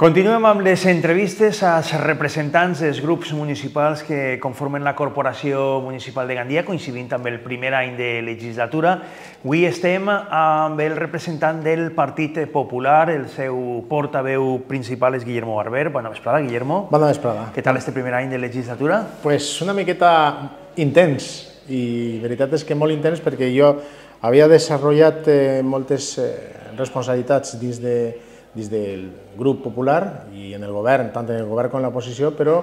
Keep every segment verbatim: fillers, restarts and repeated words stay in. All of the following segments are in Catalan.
Continuem amb les entrevistes als representants dels grups municipals que conformen la Corporació Municipal de Gandia, coincidint amb el primer any de legislatura. Avui estem amb el representant del Partit Popular, el seu portaveu principal és Guillermo Barber. Bona vesprada, Guillermo. Bona vesprada. Què tal este primer any de legislatura? Pues una miqueta intens, i la veritat és que molt intens perquè jo havia desenvolupat eh, moltes eh, responsabilitats dins de dins del grup popular i en el govern, tant en el govern com en l'oposició, però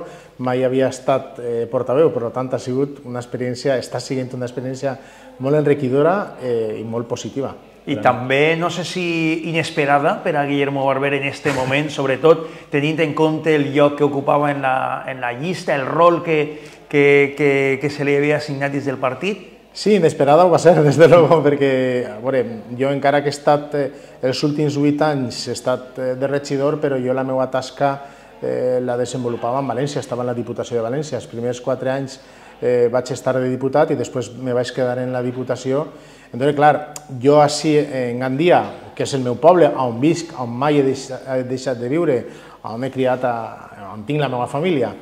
mai havia estat eh, portaveu, per tant ha sigut una experiència, està sent una experiència molt enriquidora eh, i molt positiva. I també, no sé si inesperada per a Guillermo Barber en aquest moment, sobretot tenint en compte el lloc que ocupava en la, en la llista, el rol que, que, que, que se li havia assignat des del partit. Sí, inesperada ho va ser, des de luego, perquè a veure, jo encara que he estat eh, els últims vuit anys he estat eh, de regidor, però jo la meva tasca eh, la desenvolupava en València, estava en la Diputació de València. Els primers quatre anys eh, vaig estar de diputat i després me vaig quedar en la Diputació. Entonces, clar, jo així en Gandia, que és el meu poble, on visc, on mai he deixat, he deixat de viure, on he criat, a, on tinc la meva família,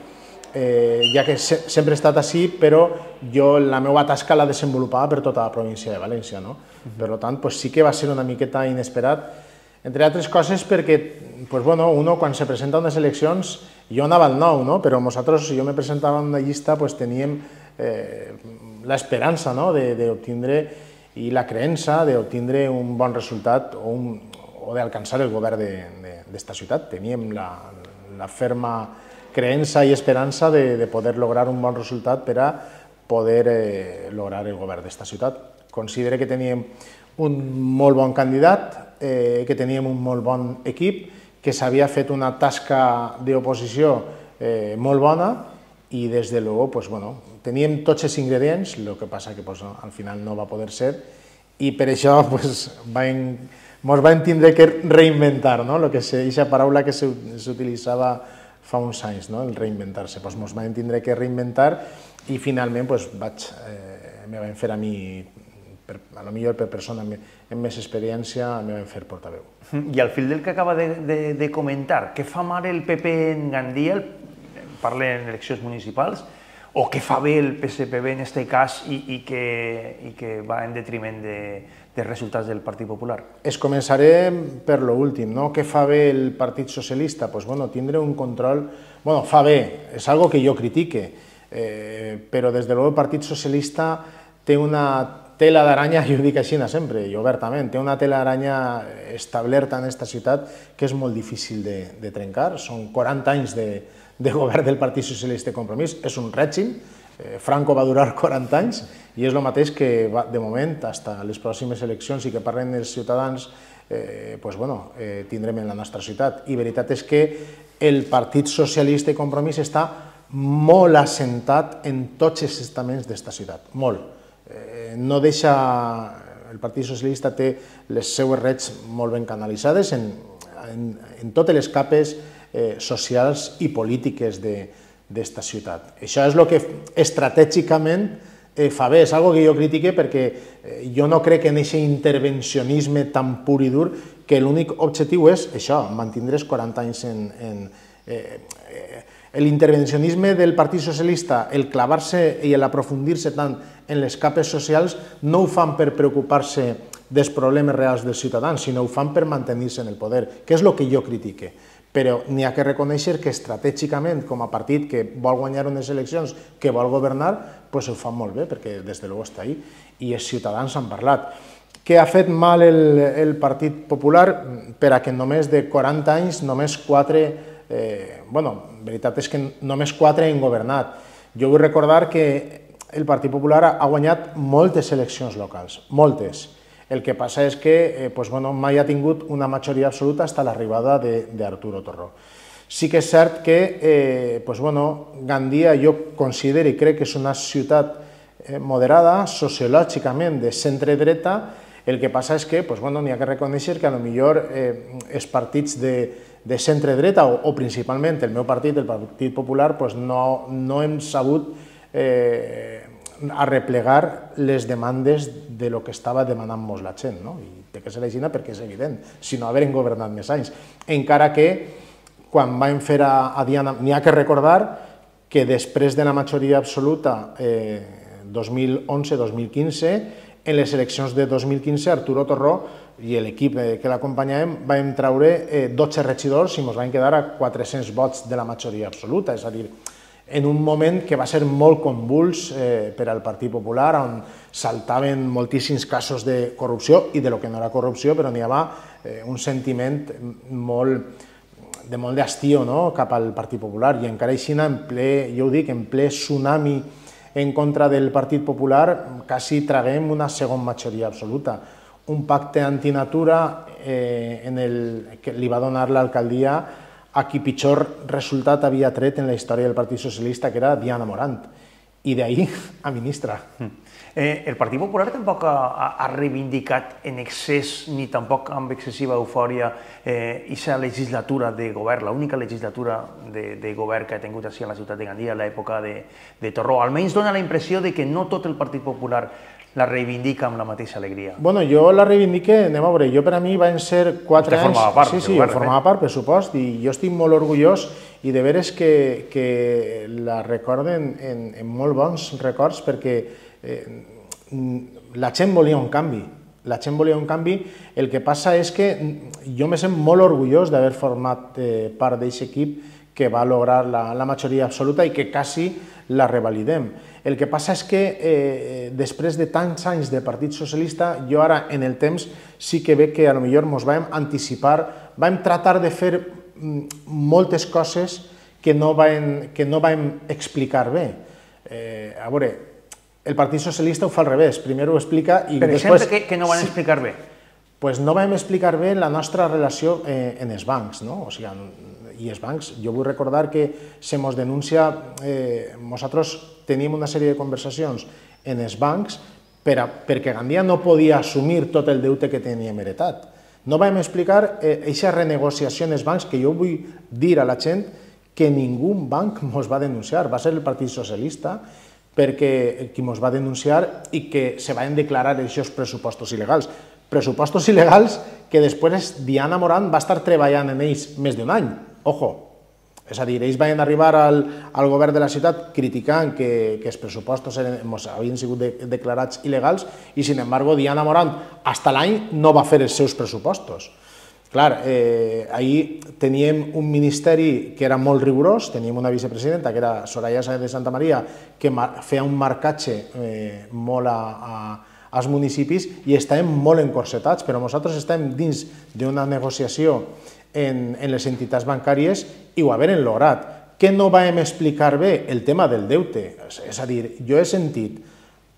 Eh, ja que se, sempre he estat així, però jo la meva tasca la desenvolupava per tota la província de València, no? Per tant, pues, sí que va ser una miqueta inesperat, entre altres coses perquè, pues, bueno, uno quan se presenta a unes eleccions, jo anava al nou, no? Però nosaltres, si jo me presentava en una llista, pues, teníem eh, l'esperança, no? d'obtindre i la creença d'obtindre un bon resultat o, un, o d'alcançar el govern d'esta ciutat. Teníem la, la ferma creença i esperança de, de poder lograr un bon resultat per a poder eh, lograr el govern d'esta ciutat. Considero que teníem un molt bon candidat, eh, que teníem un molt bon equip, que s'havia fet una tasca d'oposició eh, molt bona i des de luego, pues, bueno, teníem tots els ingredients, el que passa que pues, al final no va poder ser i per això pues, vam, ens vam tindre que reinventar, no? Lo que és aquesta paraula que s'utilitzava fa uns anys, no? El reinventar-se. Pues ens vam tindre que reinventar i finalment pues, vaig, eh, me van fer a mi, per, a lo millor per persona amb, amb més experiència, me van fer portaveu. I al fil del que acaba de, de, de comentar, què fa mal el P P en Gandia, parla en eleccions municipals, o què fa bé el P S P B en aquest cas i, i, que, i que va en detriment de, dels resultats del Partit Popular? Es començaré per l'últim, no? Què fa bé el Partit Socialista? Pues, bueno, tindre un control... Bueno, fa bé, és algo que jo critique, eh, però des de luego el Partit Socialista té una tela d'aranya, jo ho dic així sempre, i obertament, té una tela d'aranya establerta en aquesta ciutat que és molt difícil de, de trencar. Són quaranta anys de, de govern del Partit Socialista i Compromís, és un règim. Franco va durar quaranta anys i és el mateix que va, de moment, fins a les pròximes eleccions i que parlen els ciutadans, eh, pues, bueno, eh, tindrem en la nostra ciutat. I veritat és que el Partit Socialista i Compromís està molt assentat en tots els estaments d'esta ciutat, molt. Eh, no deixa... El Partit Socialista té les seues reds molt ben canalitzades en, en, en totes les capes eh, socials i polítiques de d'esta ciutat. Això és el que estratègicament fa bé, és una cosa que jo critique perquè jo no crec en aquest intervencionisme tan pur i dur que l'únic objectiu és això, mantindre els quaranta anys en... L'intervencionisme del Partit Socialista, el clavar-se i l'aprofundir-se tant en les capes socials, no ho fan per preocupar-se dels problemes reals dels ciutadans, sinó ho fan per mantenir-se en el poder, que és el que jo critique. Però n'hi ha que reconèixer que estratègicament, com a partit que vol guanyar unes eleccions, que vol governar, doncs ho fan molt bé, perquè des de luego està ahí, i els ciutadans han parlat. Què ha fet mal el, el Partit Popular? Per a que només de quaranta anys, només quatre, eh, bueno, la veritat és que només quatre han governat. Jo vull recordar que el Partit Popular ha guanyat moltes eleccions locals, moltes. El que passa és que eh, pues, bueno, mai ha tingut una majoria absoluta fins a l'arribada d'Arturo Torró. Sí que és cert que eh, pues, bueno, Gandia jo considero i crec que és una ciutat eh, moderada, sociològicament de centre-dreta. El que passa és que pues, bueno, n'hi ha que reconèixer que potser eh, els partits de, de centre-dreta o, o principalment el meu partit, el Partit Popular, pues, no, no hem sabut eh, arreplegar les demandes de lo que estava demanant molts la gent, no? I té que ser així perquè és evident, si no haver governat més anys. Encara que quan vam fer a, a Diana, n'hi ha que recordar que després de la majoria absoluta, eh, dos mil onze dos mil quinze, en les eleccions de dos mil quinze, Arturo Torró i l'equip que l'acompanyàvem vam treure eh, dotze regidors i ens vam quedar a quatre-cents vots de la majoria absoluta, és a dir, en un moment que va ser molt convuls eh, per al Partit Popular, on saltaven moltíssims casos de corrupció i de lo que no era corrupció, però n'hi havia eh, un sentiment molt de molt d'estiu, no?, cap al Partit Popular, i encara així, en ple, jo ho dic, en ple tsunami en contra del Partit Popular, quasi traguem una segona majoria absoluta. Un pacte antinatura eh, en el, que li va donar l'alcaldia a qui pitjor resultat havia tret en la història del Partit Socialista, que era Diana Morant, i d'ahir a ministra. Eh, el Partit Popular tampoc ha, ha reivindicat en excés ni tampoc amb excessiva eufòria aquesta eh, legislatura de govern, l'única legislatura de, de govern que ha tingut així a la ciutat de Gandia a l'època de, de Torró. Almenys dona la impressió de que no tot el Partit Popular la reivindica amb la mateixa alegria. Bueno, jo la reivindique, anem a veure, jo per a mi van ser quatre anys... Vostè formava part, sí, sí, jo formava part, per supost, i jo estic molt orgullós i de veres que, que la recorden en, en molt bons records perquè eh, la gent volia un canvi, la gent volia un canvi, el que passa és que jo me sent molt orgullós d'haver format eh, part d'aquest equip que va lograr la, la majoria absoluta i que quasi la revalidem. El que passa és que eh, després de tants anys de Partit Socialista, jo ara en el temps sí que veig que potser ens vam anticipar, vam tratar de fer moltes coses que no vam, que no vam explicar bé. Eh, a veure, el Partit Socialista ho fa al revés, primer ho explica i per després... exemple, que, que no van sí, explicar bé? Pues no vam explicar bé la nostra relació eh, en els bancs, no? O sigui, i els bancs, jo vull recordar que se mos denuncia, eh, nosaltres tenim una sèrie de conversacions en els bancs per a, perquè Gandia no podia assumir tot el deute que teníem heretat. No vam explicar aquesta eh, renegociació en els bancs, que jo vull dir a la gent que ningú banc ens va denunciar, va ser el Partit Socialista, perquè qui ens va denunciar i que se van declarar aquests pressupostos il·legals. Pressupostos il·legals que després Diana Morant va estar treballant en ells més d'un any. Ojo, és a dir, ells van arribar al, al govern de la ciutat criticant que, que els pressupostos eren, havien sigut de, declarats il·legals i, sin embargo, Diana Morant, fins l'any, no va fer els seus pressupostos. Clar, eh, ahir teníem un ministeri que era molt rigorós, teníem una vicepresidenta, que era Soraya Sáenz de Santa Maria, que feia un marcatge eh, molt a, a, als municipis i estàvem molt encorsetats, però nosaltres estem dins d'una negociació en, en les entitats bancàries i ho haver lograt. Què no vam explicar bé? El tema del deute. És a dir, jo he sentit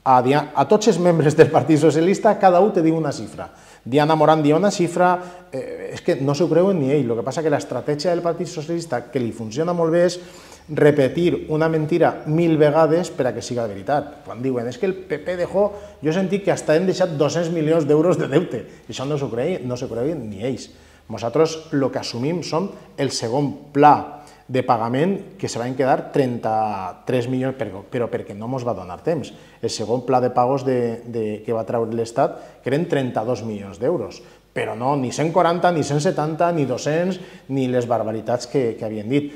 a, a tots els membres del Partit Socialista, cada un te diu una xifra. Diana Morant diu una xifra, eh, és que no s'ho creuen ni ell. El que passa és que l'estratègia del Partit Socialista, que li funciona molt bé, és repetir una mentira mil vegades per a que siga veritat. Quan diuen, és que el P P dejó, jo he sentit que hasta hem deixat dos-cents milions d'euros de deute. I això no s'ho creuen, no s'ho creuen ni ells. Nosaltres el que assumim som el segon pla de pagament que se van quedar trenta-tres milions, però perquè no ens va donar temps. El segon pla de pagos de, de, que va treure l'Estat, que eren trenta-dos milions d'euros, però no, ni cent quaranta, ni cent setanta, ni dos-cents, ni les barbaritats que, que havien dit.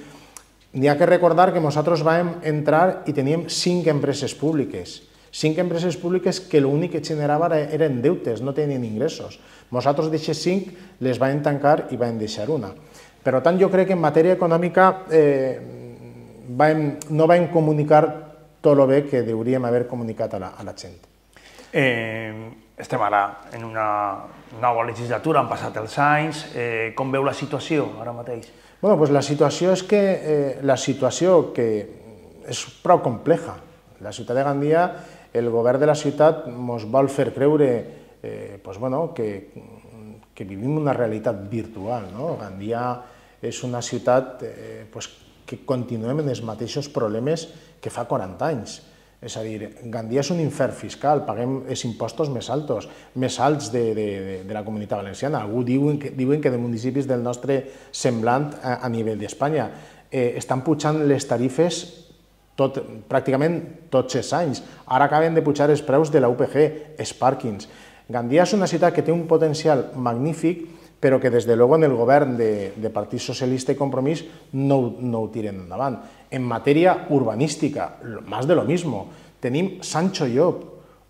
N'hi ha que recordar que nosaltres vam entrar i teníem cinc empreses públiques, cinc empreses públiques que l'únic que generava eren deutes, no tenien ingressos. Nosaltres d'aquestes cinc les vam tancar i vam deixar una. Per tant, jo crec que en matèria econòmica eh, vam, no vam comunicar tot el bé que hauríem haver comunicat a la, a la gent. Eh, estem ara en una nova legislatura, han passat els anys. Eh, com veu la situació ara mateix? Bueno, pues la situació és que eh, la situació que és prou compleja. La ciutat de Gandia, el govern de la ciutat ens vol fer creure eh, pues, bueno, que, que vivim una realitat virtual. No? Gandia és una ciutat eh, pues, que continuem en els mateixos problemes que fa quaranta anys. És a dir, Gandia és un infern fiscal, paguem els impostos més altos, més alts de, de, de la Comunitat Valenciana. Algú diuen que, diuen que de municipis del nostre semblant a, a nivell d'Espanya. Eh, estan pujant les tarifes tot, pràcticament tots els anys. Ara acaben de pujar els preus de la U P G, els pàrquings. Gandia és una ciutat que té un potencial magnífic, però que des de luego en el govern de, de Partit Socialista i Compromís no, no ho tiren endavant. En matèria urbanística, más de lo mismo. Tenim Sancho Llop,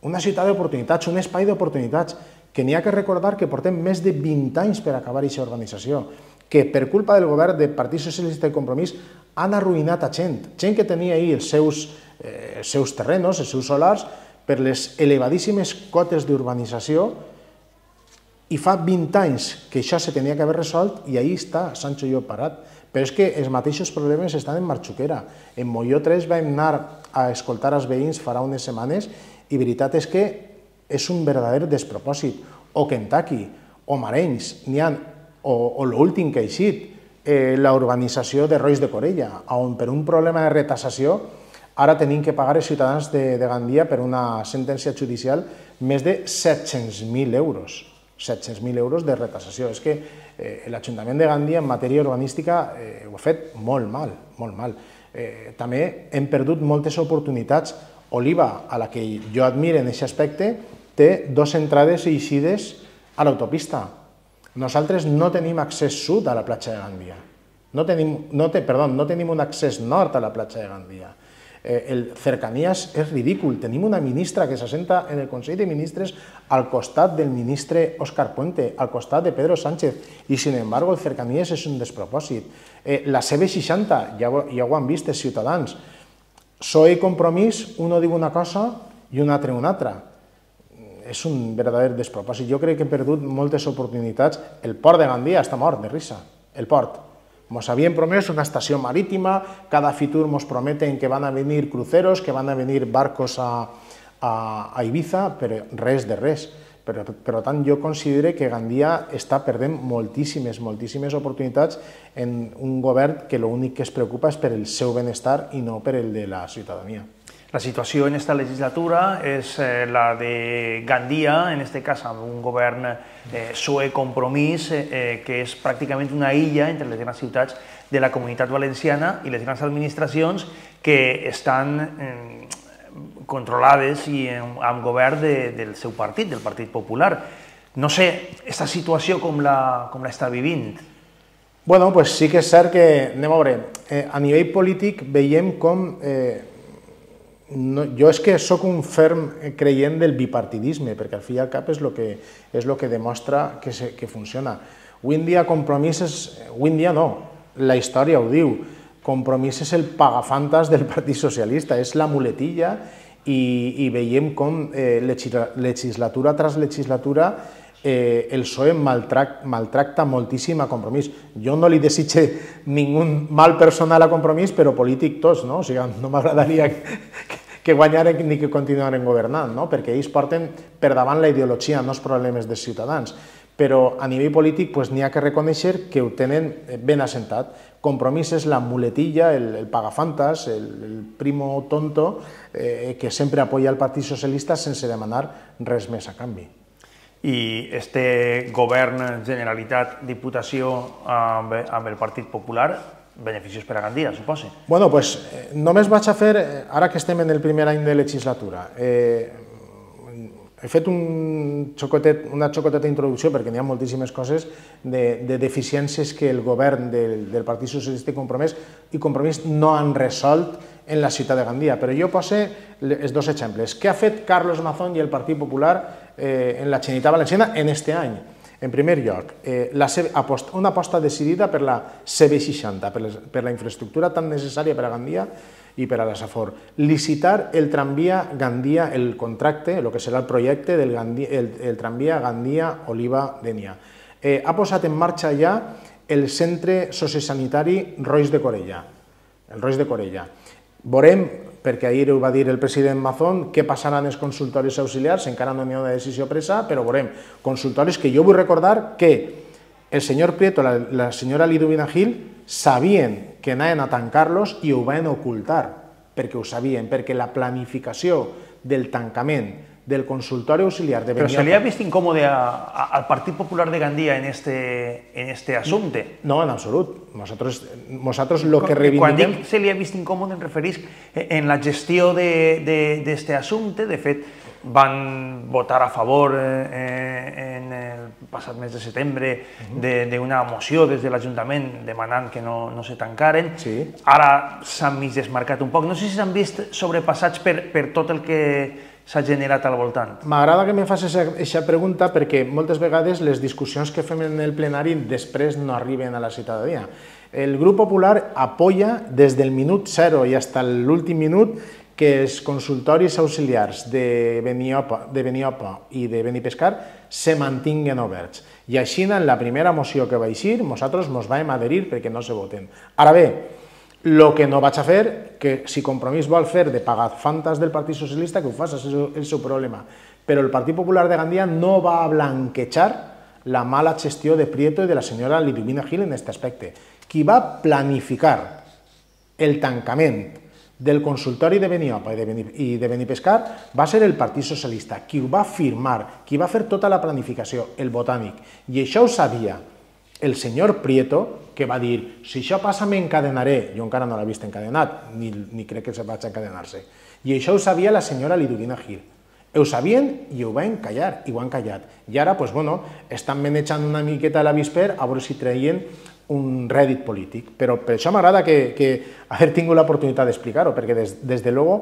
una ciutat d'oportunitats, un espai d'oportunitats, que n'hi ha que recordar que portem més de vint anys per acabar aquesta urbanització, que per culpa del govern de Partit Socialista i Compromís han arruïnat a gent, gent que tenia ahir els seus, eh, els seus terrenos, els seus solars, per les elevadíssimes cotes d'urbanització, i fa vint anys que això se tenia que haver resolt i ahí està Sancho Llop parat. Però és que els mateixos problemes estan en Marxuquera. En Molló tres vam anar a escoltar els veïns farà unes setmanes i veritat és que és un verdader despropòsit. O Kentucky, o Marenys, n'hi ha, o, o l'últim que ha eixit, eh, la urbanització de Rois de Corella, on per un problema de retassació ara tenim que pagar els ciutadans de, de Gandia per una sentència judicial més de set-cents mil euros. set-cents mil euros de retassació. És que eh, l'Ajuntament de Gandia en matèria urbanística eh, ho ha fet molt mal, molt mal. Eh, també hem perdut moltes oportunitats. Oliva, a la que jo admiro en aquest aspecte, té dues entrades i eixides a l'autopista. Nosaltres no tenim accés sud a la platja de Gandia. No tenim, no te, perdó, no tenim un accés nord a la platja de Gandia. Eh, el Cercanías és ridícul. Tenim una ministra que s'assenta en el Consell de Ministres al costat del ministre Óscar Puente, al costat de Pedro Sánchez, i sin embargo el Cercanías és un despropòsit. Eh, la C B seixanta, ja, ja ho han vist els ciutadans, P S O E i Compromís, uno diu una cosa i un altre una altra. És un verdader despropòsit. Jo crec que he perdut moltes oportunitats. El port de Gandia està mort de risa, el port. Ens havien promès una estació marítima, cada futur ens prometen que van a venir cruceros, que van a venir barcos a, a, a Ibiza, però res de res. Per, per tant, jo considero que Gandia està perdent moltíssimes, moltíssimes oportunitats en un govern que l'únic que es preocupa és per el seu benestar i no per el de la ciutadania. La situació en esta legislatura és eh, la de Gandia, en este cas amb un govern eh, P S O E Compromís, eh, que és pràcticament una illa entre les grans ciutats de la Comunitat Valenciana i les grans administracions que estan eh, controlades i amb govern de, del seu partit, del Partit Popular. No sé, aquesta situació com la, com l'està vivint? Bueno, pues sí que és cert que, anem a veure, eh, a nivell polític veiem com... Eh, No, jo és que sóc un ferm creient del bipartidisme, perquè al fi i al cap és el que, és lo que demostra que, se, que funciona. Avui en dia Compromís és... Avui en dia no, la història ho diu. Compromís és el pagafantas del Partit Socialista, és la muletilla i, i veiem com eh, legislatura tras legislatura eh, el P S O E maltrac, maltracta moltíssim a Compromís. Jo no li desitge ningú mal personal a Compromís, però polític tots, no? O sigui, no m'agradaria que, que guanyaren ni que continuaren governant, no? Perquè ells porten per davant la ideologia, no els problemes dels ciutadans. Però a nivell polític pues, n'hi ha que reconèixer que ho tenen ben assentat. Compromís és la muletilla, el, el pagafantas, el, el primo tonto eh, que sempre apoya el Partit Socialista sense demanar res més a canvi. I este govern, Generalitat, Diputació amb, amb el Partit Popular, beneficios per a Gandia, suposo? Bueno, pues eh, només vaig a fer, ara que estem en el primer any de legislatura, eh, he fet un xocotet, una xocoteta introducció, perquè n'hi ha moltíssimes coses de, de deficiències que el govern del, del Partit Socialista i Compromís, i Compromís no han resolt en la ciutat de Gandia. Però jo poso els dos exemples. Què ha fet Carlos Mazón i el Partit Popular eh, en la Generalitat Valenciana en este any? En primer lloc, eh, la aposta, una aposta decidida per la C B seixanta, per, les, per la infraestructura tan necessària per a Gandia i per a la Safor. Licitar el tramvia Gandia, el contracte, el que serà el projecte del Gandia, el, el tramvia Gandia-Oliva-Denia. Eh, ha posat en marxa ja el centre sociosanitari Rois de Corella. El Rois de Corella. Veurem, perquè ahir ho va dir el president Mazón, què passaran els consultoris auxiliars, encara no hi ha una decisió presa, però veurem, consultoris que jo vull recordar que el senyor Prieto, la, la senyora Liduvina Gil, sabien que anaven a tancar-los i ho van ocultar, perquè ho sabien, perquè la planificació del tancament del consultorio auxiliar de Pero Beniopa... se le ha vist incòmode a, a, al Partit Popular de Gandia en este, en este assumpte? No, en absolut. Nosaltres, nosaltres lo que reivindiquem... Quan dic se li ha vist incòmode em referís en la gestió d'aquest assumpte. De fet, van votar a favor eh, en el passat mes de setembre d'una moció des de l'Ajuntament demanant que no, no se tancaren. Sí. Ara s'han mig desmarcat un poc. No sé si s'han vist sobrepassats per, per tot el que s'ha generat al voltant. M'agrada que me facis aquesta pregunta perquè moltes vegades les discussions que fem en el plenari després no arriben a la ciutadania. El grup popular apoya des del minut zero i fins a l'últim minut que els consultoris auxiliars de Beniopa, de Beniopa i de Benipescar se mantinguen oberts. I així, en la primera moció que va eixir, nosaltres ens vam adherir perquè no se voten. Ara bé, el que no vaig a fer, que si Compromís vol fer de pagar fantas del Partit Socialista, que ho faci, és el seu problema. Però el Partit Popular de Gandia no va a blanquejar la mala gestió de Prieto i de la senyora Liduvina Gil en aquest aspecte. Qui va planificar el tancament del consultori de Beniopa i de Benipescar va ser el Partit Socialista, qui ho va firmar, qui va fer tota la planificació, el Botànic. I això ho sabia el senyor Prieto, que va dir, si això passa m'encadenaré. Jo encara no l'he vist encadenat, ni, ni crec que se vaig encadenar-se. I això ho sabia la senyora Liduvina Gil. Ho sabien i ho van callar, i ho han callat. I ara, doncs, bueno, estan manejant una miqueta l'avisper a veure si treien un rèdit polític, però per això m'agrada que, que haver tingut l'oportunitat d'explicar-ho, perquè des, des de luego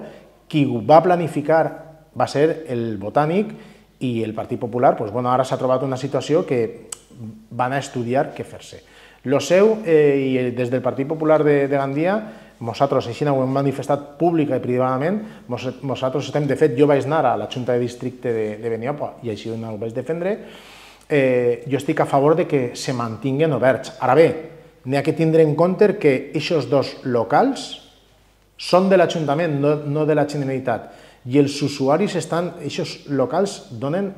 qui ho va planificar va ser el Botànic i el Partit Popular, doncs, bueno, ara s'ha trobat una situació que van a estudiar què fer-se. Lo seu, eh, i des del Partit Popular de, de Gandia, nosaltres així ho hem manifestat pública i privadament, nosaltres estem, de fet, jo vaig anar a la Junta de Districte de, de Beniopa i així ho vaig defendre. Eh, jo estic a favor de que se mantinguen oberts. Ara bé, n'hi ha que tindre en compte que aquests dos locals són de l'Ajuntament, no, no de la Generalitat, i els usuaris estan, aquests locals donen,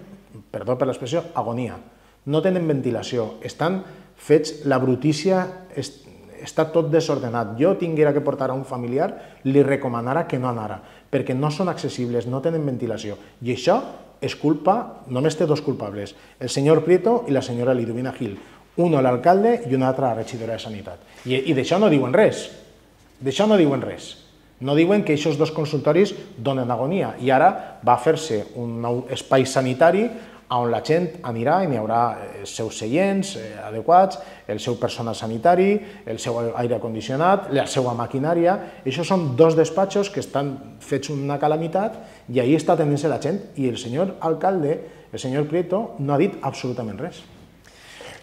perdó per l'expressió, agonia. No tenen ventilació, estan fets, la brutícia est, està tot desordenat. Jo tinguera que portar a un familiar, li recomanara que no anara, perquè no són accessibles, no tenen ventilació. I això és culpa, només té dos culpables, el senyor Prieto i la senyora Liduvina Gil, un l'alcalde i una altra regidora de Sanitat. I, i d'això no diuen res, d'això no diuen res. No diuen que aquests dos consultoris donen agonia i ara va fer-se un nou espai sanitari on la gent anirà i n'hi haurà els seus seients adequats, el seu personal sanitari, el seu aire condicionat, la seva maquinària. Això són dos despatxos que estan fets una calamitat i ahí està atenent-se la gent i el senyor alcalde, el senyor Prieto, no ha dit absolutament res.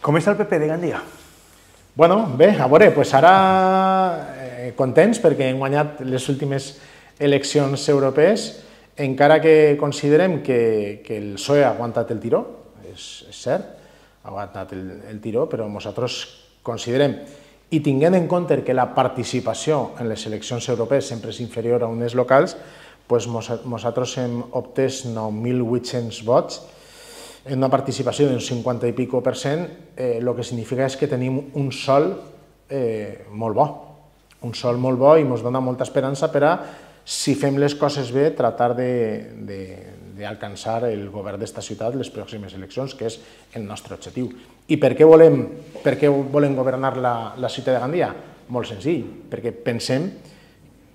Com està el P P de Gandia? Bueno, bé, a veure, doncs ara eh, contents perquè hem guanyat les últimes eleccions europees, encara que considerem que, que el P S O E ha aguantat el tiró, és, és cert, ha aguantat el, el tiró, però nosaltres considerem, i tinguent en compte que la participació en les eleccions europees sempre és inferior a unes locals, doncs nosaltres hem obtès nou mil vuit-cents vots, en una participació d'un cinquanta i pico per cent, eh, el que significa és que tenim un sol eh, molt bo, un sol molt bo i ens dona molta esperança per a, si fem les coses bé, tratar d'alcançar el govern d'esta ciutat les pròximes eleccions, que és el nostre objectiu. I per què volem, per què volem governar la, la ciutat de Gandia? Molt senzill, perquè pensem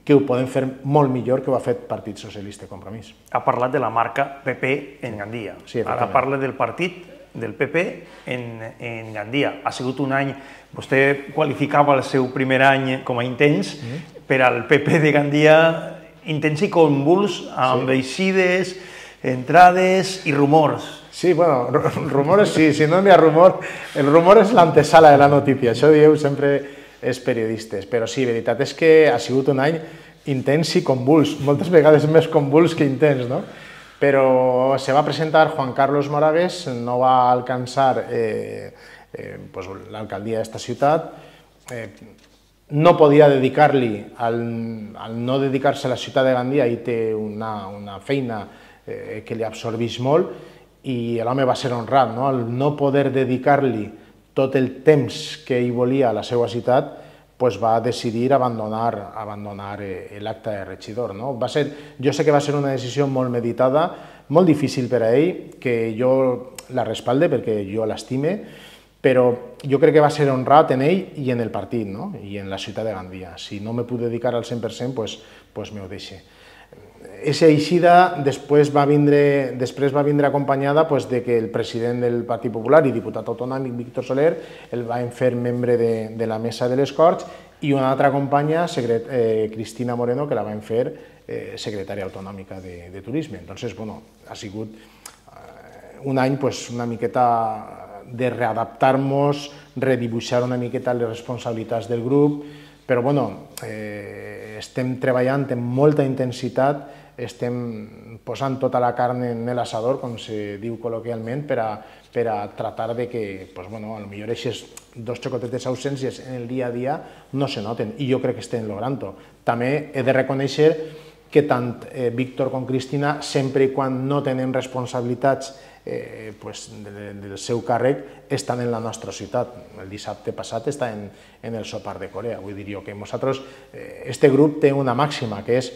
que ho podem fer molt millor que ho ha fet Partit Socialista i Compromís. Ha parlat de la marca P P en Gandia. Sí, ara parla del partit del P P en, en Gandia. Ha sigut un any, vostè qualificava el seu primer any com a intens, mm-hmm. per al P P de Gandia intens i convuls, amb sí. eixides, entrades i rumors. Sí, bueno, rumores sí, si no hi ha rumor, el rumor és l'antesala de la notícia, això dieu sempre els periodistes, però sí, veritat és que ha sigut un any intens i convuls, moltes vegades més convuls que intens, no? Però se va presentar Juan Carlos Moragues, no va alcançar eh, eh, pues, l'alcaldia d'esta ciutat, eh, no podia dedicar-li, al, al no dedicar-se a la ciutat de Gandia, i té una, una feina eh, que li absorbeix molt, i l'home va ser honrat, no? Al no poder dedicar-li tot el temps que ell volia a la seva ciutat, pues va decidir abandonar, abandonar eh, l'acte de regidor. No? Va ser, jo sé que va ser una decisió molt meditada, molt difícil per a ell, que jo la respalde perquè jo l'estime, però jo crec que va ser honrat en ell i en el partit, no? I en la ciutat de Gandia. Si no me puc dedicar al cent per cent, doncs, doncs m'ho deixe. Aquesta eixida després va vindre, després va vindre acompanyada pues, de que el president del Partit Popular i diputat autonòmic, Víctor Soler, el va fer membre de, de la mesa de les Corts i una altra companya, secret, eh, Cristina Moreno, que la van fer eh, secretària autonòmica de, de Turisme. Entonces, bueno, ha sigut eh, un any pues, una miqueta de readaptar-nos, redibuixar una miqueta les responsabilitats del grup, però bueno, eh, estem treballant amb molta intensitat, estem posant tota la carn en l'assador, com se diu col·loquialment, per a, per a tratar de que, pues, bueno, potser aquestes dos xocotetes ausències en el dia a dia no se noten, i jo crec que estem logrant-ho. També he de reconèixer que tant eh, Víctor com Cristina, sempre i quan no tenen responsabilitats Eh, pues, de, del seu càrrec, estan en la nostra ciutat. El dissabte passat està en, en el sopar de Corea. Vull dir jo que nosaltres, eh, este grup té una màxima, que és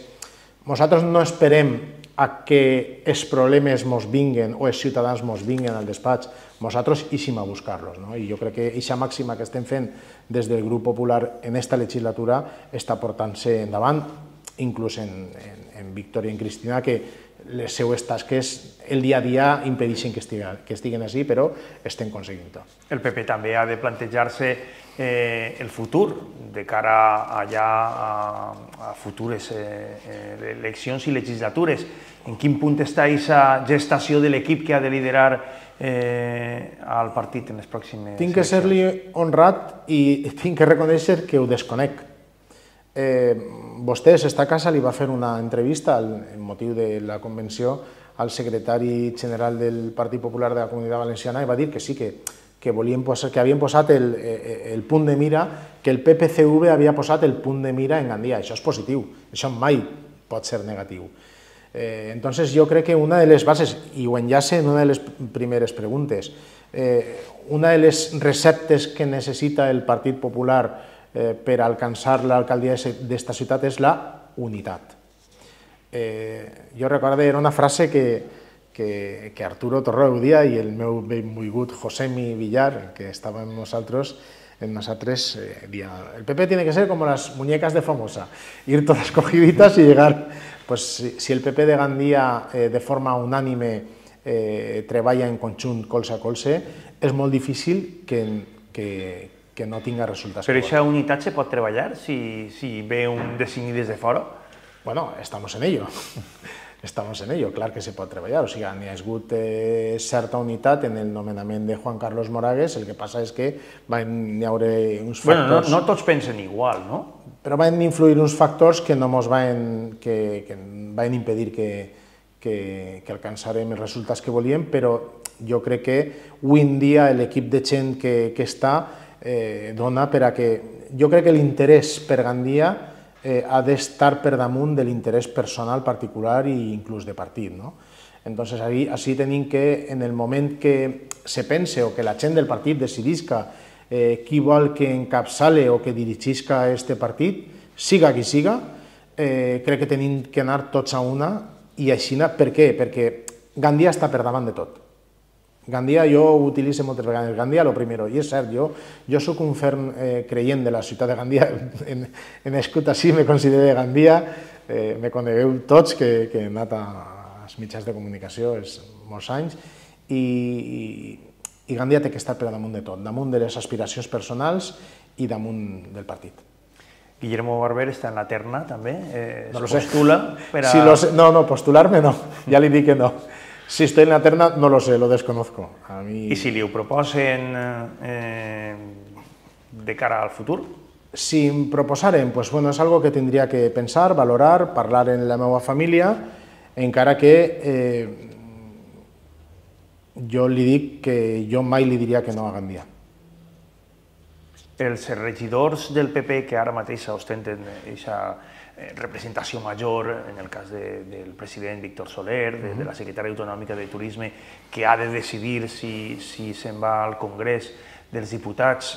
nosaltres no esperem a que els problemes mos vinguen o els ciutadans mos vinguen al despatx, nosaltres eixim a buscar-los. No? I jo crec que aquesta màxima que estem fent des del grup popular en esta legislatura està portant-se endavant, inclús en, en, en Víctor i en Cristina, que les seues tasques el dia a dia impedeixen que estiguen, que estiguen així, però estem aconseguint-ho. El P P també ha de plantejar-se eh, el futur de cara allà a, a futures eh, eleccions i legislatures. En quin punt està aquesta gestació de l'equip que ha de liderar eh, el partit en les pròximes Tinc que ser-li honrat i tinc que reconèixer que ho desconec. Eh, vostè, esta casa, li va fer una entrevista en motiu de la convenció al secretari general del Partit Popular de la Comunitat Valenciana i va dir que sí, que, que, volien posar, que havien posat el, el punt de mira, que el P P C V havia posat el punt de mira en Gandia. Això és positiu, això mai pot ser negatiu. Eh, entonces, jo crec que una de les bases, i ho enllace en una de les primeres preguntes, eh, una de les receptes que necessita el Partit Popular Eh, per alcançar l'alcaldia d'esta ciutat és la unitat. Eh, jo recordo, era una frase que, que, que Arturo Torró dia i el meu benvolgut Josemi Villar, que estava amb nosaltres, en nosaltres, eh, dia, el P P tiene que ser como las muñecas de Famosa, ir todas cogiditas y llegar. Pues si, si el P P de Gandia eh, de forma unànime eh, treballa en conjunt colze a colze, és molt difícil que, que, que no tinga resultats. Però aquesta unitat se pot treballar si, si ve un designi des de fora? Bueno, estamos en ello. Estamos en ello, clar que se pot treballar. O sigui, n'hi ha hagut eh, certa unitat en el nomenament de Juan Carlos Moragues, el que passa és que van haure uns factors... Bueno, no, no tots pensen igual, no? Però van influir uns factors que no ens van, que, que van impedir que, que, que alcançarem els resultats que volíem, però jo crec que avui en dia l'equip de gent que, que està eh, dona per a que... Jo crec que l'interès per Gandia eh, ha d'estar per damunt de l'interès personal particular i inclús de partit, no? Entonces, ahí, així tenim que, en el moment que se pense o que la gent del partit decidisca eh, qui vol que encapçale o que dirigisca este partit, siga qui siga, eh, crec que tenim que anar tots a una i així, per què? Perquè Gandia està per davant de tot. Gandia, jo ho utilitzo moltes vegades, Gandia lo primero, i és cert, jo, jo soc un ferm eh, creient de la ciutat de Gandia, en, en escut així me considero de Gandia, eh, me conegueu tots que, que he anat als mitjans de comunicació és molts anys, i, i, i Gandia té que estar per damunt de tot, damunt de les aspiracions personals i damunt del partit. Guillermo Barber està en la terna, també? Eh, no lo sé. ¿Postula per a...? Sí, lo sé. No, no, postular-me no, ja li dic que no. Si estoy en la terna, no lo sé, lo desconozco. A mí... I si li ho proposen eh, de cara al futur? Si em proposaren, pues bueno, és algo que tindria que pensar, valorar, parlar en la meva família, encara que eh, jo li dic que jo mai li diria que no a Gandia. Els regidors del P P que ara mateix ostenten aquesta representació major, en el cas de, del president Víctor Soler, de, de la secretària autonòmica de Turisme, que ha de decidir si, si se'n va al Congrés dels Diputats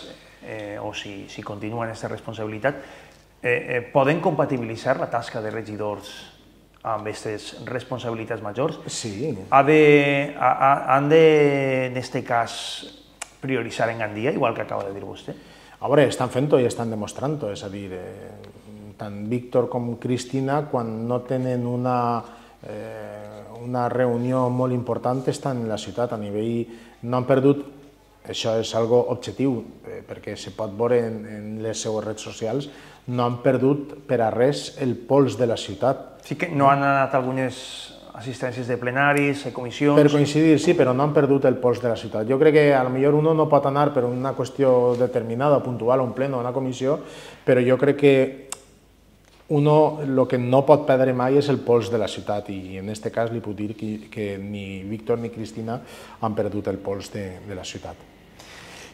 eh, o si, si continua en aquesta responsabilitat, eh, eh, poden compatibilitzar la tasca de regidors amb aquestes responsabilitats majors, sí. ha de, ha, ha, han de, en aquest cas, prioritzar en Gandia, igual que acaba de dir vostè? A veure, estan fent-ho i estan demostrant-ho, és a dir, eh, tant Víctor com Cristina, quan no tenen una, eh, una reunió molt important, estan en la ciutat, a nivell, no han perdut, això és algo objectiu, eh, perquè se pot veure en, en les seues redes socials, no han perdut per a res el pols de la ciutat. Sí que no han anat algunes assistències de plenaris, de comissions... Per coincidir, sí, però no han perdut el pols de la ciutat. Jo crec que a lo millor uno no pot anar per una qüestió determinada, puntual, a un pleno, a una comissió, però jo crec que uno el que no pot perdre mai és el pols de la ciutat i en aquest cas li puc dir que, que ni Víctor ni Cristina han perdut el pols de, de la ciutat.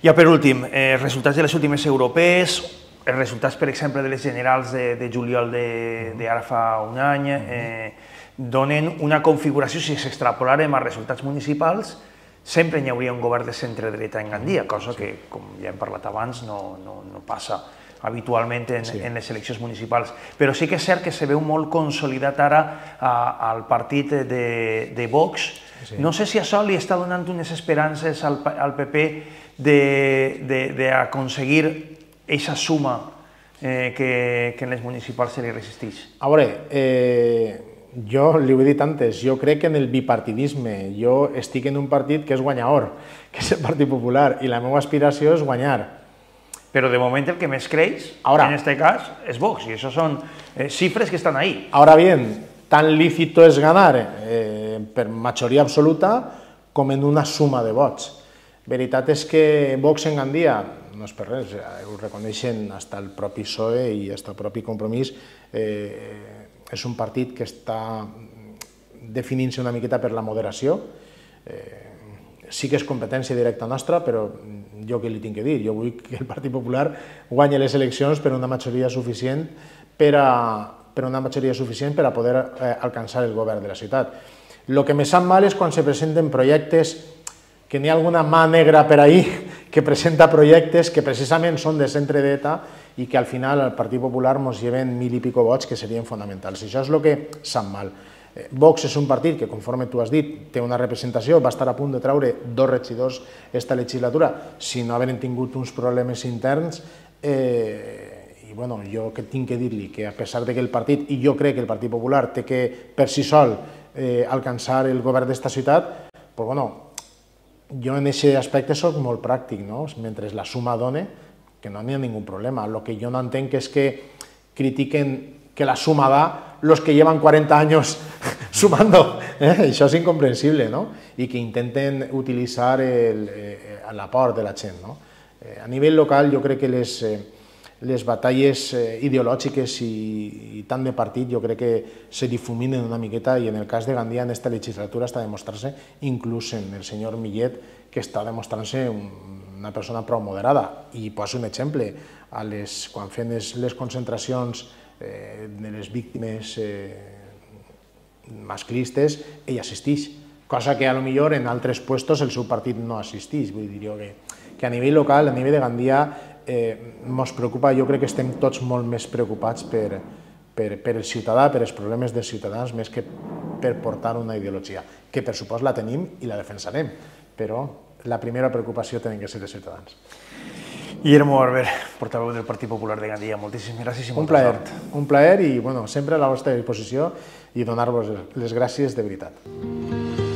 Ja per últim, eh, resultats de les últimes europees, els resultats, per exemple, de les generals de, de juliol d'ara fa un any, eh, donen una configuració, si s'extrapolaren als resultats municipals, sempre hi hauria un govern de centre-dreta en Gandia, cosa que, com ja hem parlat abans, no, no, no passa habitualment en, sí. en les eleccions municipals. Però sí que és cert que se veu molt consolidat ara a, al partit de, de Vox. Sí. No sé si això li està donant unes esperances al, al P P d'aconseguir aquesta suma eh, que, que en les municipals se li resisteix. A veure, eh, jo li ho he dit antes, jo crec en el bipartidisme, jo estic en un partit que és guanyador, que és el Partit Popular, i la meva aspiració és guanyar. Però de moment el que més creix, ahora, en aquest cas, és Vox, i això són eh, xifres que estan ahí. Ahora bien, tan lícito es ganar eh, per majoria absoluta com en una suma de vots. Veritat és que Vox en Gandia, no és per res, ho reconeixen fins el propi P S O E i fins el propi Compromís, eh, és un partit que està definint-se una miqueta per la moderació. Eh, sí que és competència directa nostra, però jo què li tinc que dir? Jo vull que el Partit Popular guanyi les eleccions per una majoria suficient per a, per una majoria suficient per a poder eh, alcançar el govern de la ciutat. El que me sap mal és quan se presenten projectes que n'hi ha alguna mà negra per ahí que presenta projectes que precisament són de centre-dreta i que al final el Partit Popular ens lleven mil i pico vots que serien fonamentals. Això és el que sap mal. Vox és un partit que, conforme tu has dit, té una representació, va estar a punt de treure dos regidors esta legislatura, si no haveren tingut uns problemes interns. Eh, I bueno, jo que tinc que dir-li que a pesar de que el partit, i jo crec que el Partit Popular té que per si sol eh, alcançar el govern d'esta ciutat, pues bueno, jo en aquest aspecte soc molt pràctic, no? Mentre la suma done, que no n'hi ha ningú problema. El que jo no entenc és que critiquen que la suma da los que llevan cuarenta años sumando. Eh? Això és incomprensible, no? I que intenten utilitzar l'aport de la gent, no? Eh, a nivell local jo crec que les, eh, les batalles eh, ideològiques i, i tant de partit jo crec que se difuminen una miqueta i en el cas de Gandia en aquesta legislatura està demostrant-se, inclús en el senyor Millet, que està demostrant-se un, una persona prou moderada. I poso un exemple, a les, quan fem les, les concentracions eh, de les víctimes eh, masclistes, ell assisteix, cosa que a lo millor en altres puestos el seu partit no assisteix. Vull dir jo que, que a nivell local, a nivell de Gandia, eh, ens preocupa, jo crec que estem tots molt més preocupats per, per, per el ciutadà, per els problemes dels ciutadans, més que per portar una ideologia, que per supost la tenim i la defensarem, però la primera preocupació tenen que ser els ciutadans. Guillermo Barber, portaveu del Partit Popular de Gandia, moltíssimes gràcies i molta plaer, sort. Un plaer i bueno, sempre a la vostra disposició i donar-vos les gràcies de veritat.